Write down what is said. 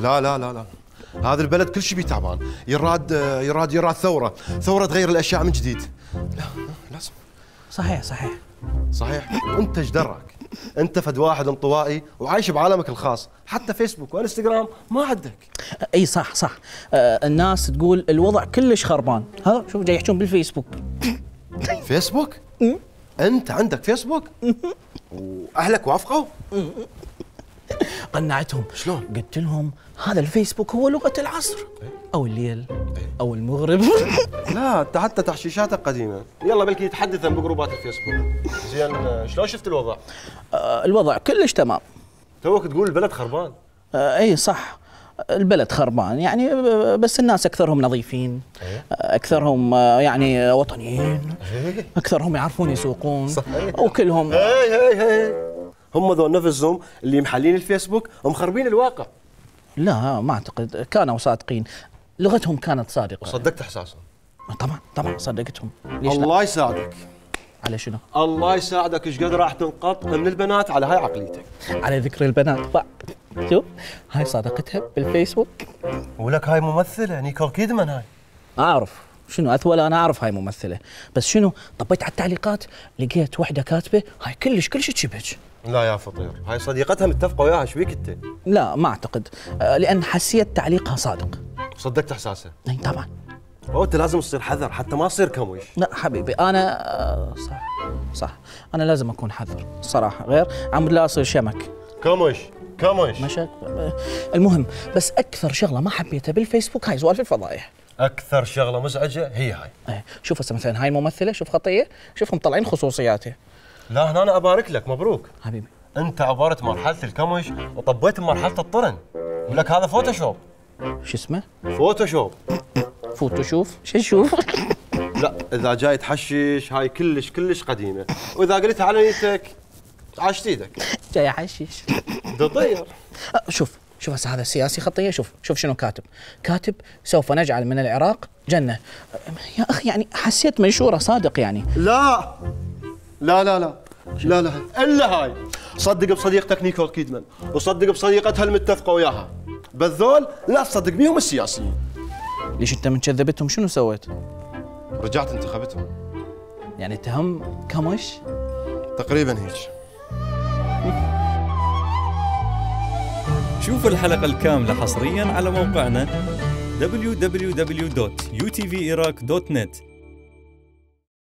لا لا لا لا، هذا البلد كل شيء بيه تعبان. يراد ثوره تغير الاشياء من جديد. لا لازم. صحيح. صحيح. انت ايش دراك؟ انت فد واحد انطوائي وعايش بعالمك الخاص، حتى فيسبوك وانستغرام ما عندك. اي صح. الناس تقول الوضع كلش خربان، ها شوف جاي يحجون بالفيسبوك. فيسبوك؟ انت عندك فيسبوك؟ واهلك وافقوا؟ قنعتهم. شلون؟ قلت لهم هذا الفيسبوك هو لغة العصر، او الليل او المغرب. لا انت حتى تحشيشاتك قديمه. يلا بلكي يتحدث بجروبات الفيسبوك. زين شلون شفت الوضع؟ الوضع كلش تمام. توك تقول البلد خربان. اي صح، البلد خربان يعني، بس الناس اكثرهم نظيفين، اكثرهم يعني وطنيين، اكثرهم يعرفون يسوقون. صحيح. وكلهم هي هم ذول نفسهم اللي محلين الفيسبوك ومخربين الواقع. لا ما اعتقد، كانوا صادقين، لغتهم كانت صادقه. وصدقت احساسهم؟ طبعا صدقتهم. الله يساعدك. على شنو؟ الله يساعدك ايش قد راح تنقط من البنات على هاي عقليتك. على ذكر البنات شوف هاي صادقتها بالفيسبوك. ولك هاي ممثله نيكول كيدمان. هاي اعرف شنو اثول، انا اعرف هاي ممثله، بس شنو طبيت على التعليقات لقيت وحده كاتبه هاي كلش تشبهك. لا يا فطير، هاي صديقتها متفقه وياها. ايش بيك انت؟ لا ما اعتقد، لان حسيت تعليقها صادق. صدقت احساسه؟ اي طبعا. انت لازم تصير حذر حتى ما تصير كموش. لا حبيبي انا صح انا لازم اكون حذر صراحه، غير عمود لا اصير شمك. كموش مشاك. المهم بس اكثر شغله ما حبيتها بالفيسبوك هاي سوالف الفضايح. اكثر شغله مزعجه هي هاي. شوف هسه مثلا هاي الممثله، شوف خطيه، شوفهم طالعين خصوصياتها. لا هنا انا ابارك لك، مبروك حبيبي. انت عبرت مرحله الكمش وطبيت بمرحله الطرن. ولك هذا فوتوشوب. شو اسمه؟ فوتوشوب. فوتوشوف؟ شو نشوف؟ لا اذا جاي تحشش هاي كلش قديمه، واذا قلتها على نيتك عاشت ايدك. جاي احشش. تطير. شوف هسه هذا السياسي خطيه، شوف شنو كاتب سوف نجعل من العراق جنه. يا اخي يعني حسيت منشوره صادق يعني. لا الا هاي. صدق بصديقتك نيكول كيدمان، وصدق بصديقتها المتفقه وياها، بذول لا تصدق بيهم السياسيين. ليش انت من كذبتهم شنو سويت؟ رجعت انتخبتهم. يعني اتهم كمش؟ تقريبا هيك. شوف الحلقة الكاملة حصرياً على موقعنا www.utviraq.net.